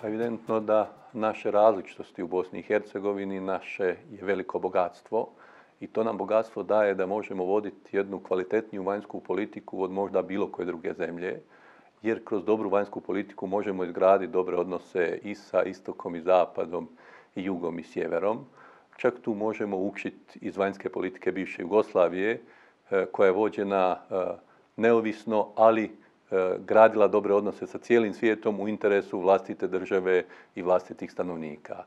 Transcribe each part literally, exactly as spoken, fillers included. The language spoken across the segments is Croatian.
Evidentno da naše različitosti u Bosni i Hercegovini naše je veliko bogatstvo i to nam bogatstvo daje da možemo voditi jednu kvalitetniju vanjsku politiku od možda bilo koje druge zemlje, jer kroz dobru vanjsku politiku možemo izgraditi dobre odnose i sa istokom i zapadom i jugom i sjeverom. Čak tu možemo učiti iz vanjske politike bivše Jugoslavije, koja je vođena neovisno, ali gradila dobre odnose sa cijelim svijetom u interesu vlastite države i vlastitih stanovnika.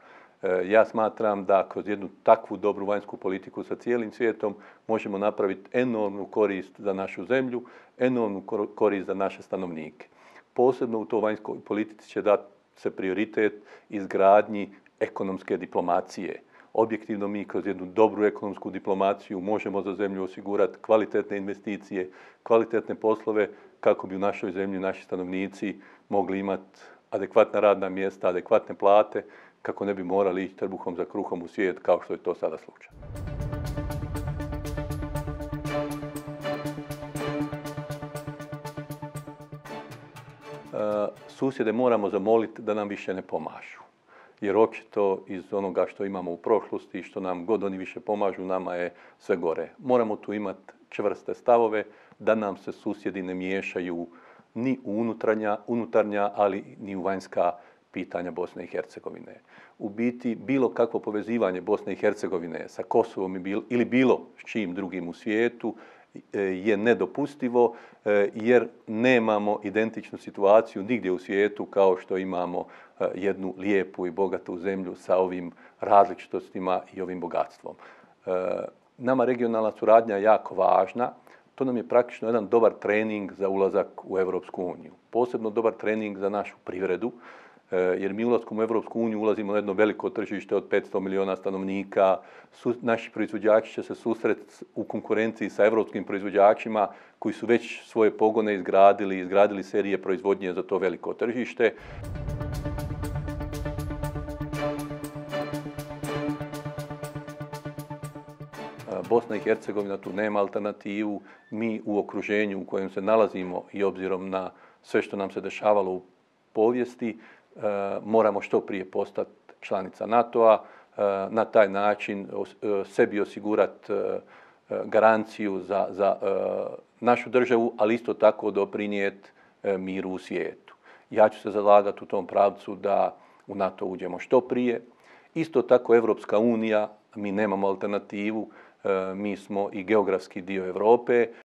Ja smatram da kroz jednu takvu dobru vanjsku politiku sa cijelim svijetom možemo napraviti enormnu korist za našu zemlju, enormnu korist za naše stanovnike. Posebno u toj vanjskoj politici će dati se prioritet izgradnji ekonomske diplomacije. Objektivno mi kroz jednu dobru ekonomsku diplomaciju možemo za zemlju osigurati kvalitetne investicije, kvalitetne poslove kako bi u našoj zemlji naši stanovnici mogli imati adekvatna radna mjesta, adekvatne plate, kako ne bi morali ići trbuhom za kruhom u svijet kao što je to sada slučaj. Susjede moramo zamoliti da nam više ne pomažu. Jer očito iz onoga što imamo u prošlosti i što nam god oni više pomažu, nama je sve gore. Moramo tu imati čvrste stavove da nam se susjedi ne miješaju ni u unutarnja, unutarnja, ali ni u vanjska pitanja Bosne i Hercegovine. U biti, bilo kakvo povezivanje Bosne i Hercegovine sa Kosovom ili bilo s čim drugim u svijetu je nedopustivo jer nemamo identičnu situaciju nigdje u svijetu kao što imamo jednu lijepu i bogatu zemlju sa ovim različitostima i ovim bogatstvom. Nama regionalna suradnja je jako važna. To nam je praktično jedan dobar trening za ulazak u Europsku uniju. Posebno dobar trening za našu privredu, jer mi ulaskom u Europsku uniju ulazimo na jedno veliko tržište od petsto milijuna stanovnika. Naši proizvođači će se susreti u konkurenciji sa europskim proizvođačima koji su već svoje pogone izgradili, izgradili serije proizvodnje za to veliko tržište. Bosna i Hercegovina tu nema alternativu. Mi u okruženju u kojem se nalazimo i obzirom na sve što nam se dešavalo u povijesti, moramo što prije postati članica NATO-a, na taj način sebi osigurati garanciju za, za našu državu, ali isto tako doprinijeti miru u svijetu. Ja ću se zalagati u tom pravcu da u NATO uđemo što prije. Isto tako Europska unija, mi nemamo alternativu, mi smo i geografski dio Europe.